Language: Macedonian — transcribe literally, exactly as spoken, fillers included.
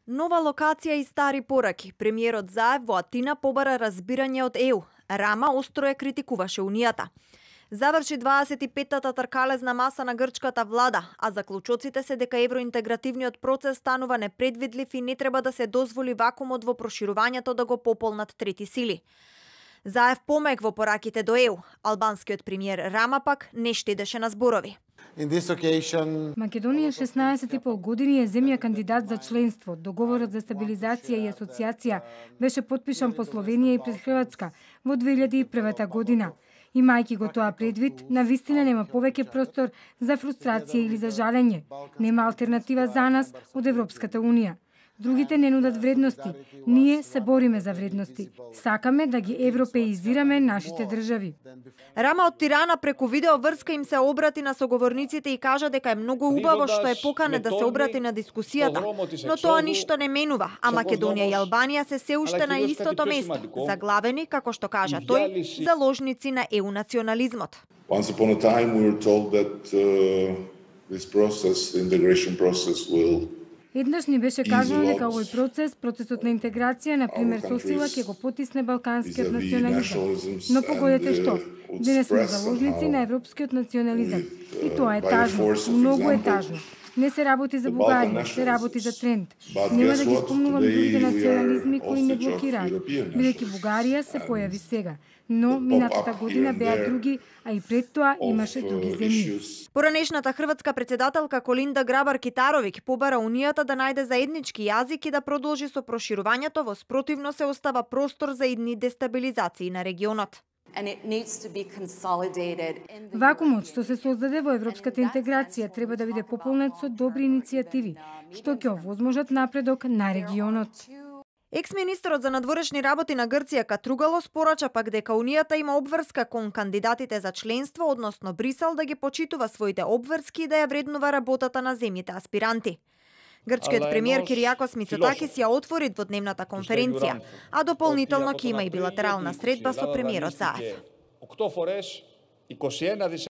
Нова локација и стари пораки. Премиерот Заев во Атина побара разбирање од Е У. Рама остро ја критикуваше Унијата. Заврши дваесет и петтата тркалезна маса на грчката влада, а заклучоците се дека евроинтегративниот процес станува непредвидлив и не треба да се дозволи вакуумот во проширувањето да го пополнат трети сили. Заев помек во пораките до Е У. Албанскиот премиер Рама пак не штедеше на зборови. Occasion... Македонија шеснаесет и пол години е земја кандидат за членство. Договорот за стабилизација и асоциација беше потпишан по Словенија и пред Хрватска во две илјади и прва година. Имајќи го тоа предвид, навистина нема повеќе простор за фрустрација или за жалење. Нема алтернатива за нас од Европската Унија. Другите не нудат вредности. Ние се бориме за вредности. Сакаме да ги европеизираме нашите држави. Рама од Тирана преку видео врска им се обрати на соговорниците и кажа дека е многу убаво што е поканет да се обрати на дискусијата, но тоа ништо не менува, а Македонија и Албанија се се уште на истото место, заглавени, како што кажа тој, заложници на Е У национализмот. Once upon a time we were told that uh, this process, the integration process will Еднаш ни беше кажано дека овој процес, процесот на интеграција, на пример со сила, ќе го потисне балканскиот национализам. Но погодете што? Денес сме заложници на европскиот национализам. И тоа е тажно, многу е тажно. Не се работи за Бугарија, се работи за тренд. Нема да ги спомнувам другите национализми кои не блокираат, бидејќи Бугарија се појави сега. Но минатата година беа други, а и пред тоа имаше други земји. Поранешната хрватска председателка Колинда Грабар-Китаровиќ побара Унијата да најде заеднички јазик и да продолжи со проширувањето, во спротивно се остава простор за идни дестабилизации на регионот. Вакуумот што се создаде во европската интеграција треба да биде пополнет со добри иницијативи, што ќе овозможат напредок на регионот. Екс-министерот за надворешни работи на Грција Катругалос порача пак дека Унијата има обврска кон кандидатите за членство, односно Брисел да ги почитува своите обврски и да ја вреднува работата на земјите аспиранти. Грчкиот премиер Киријакос Мицотакис ја отвори дводневната конференција, а дополнително ќе има и билатерална средба со премиерот Заев.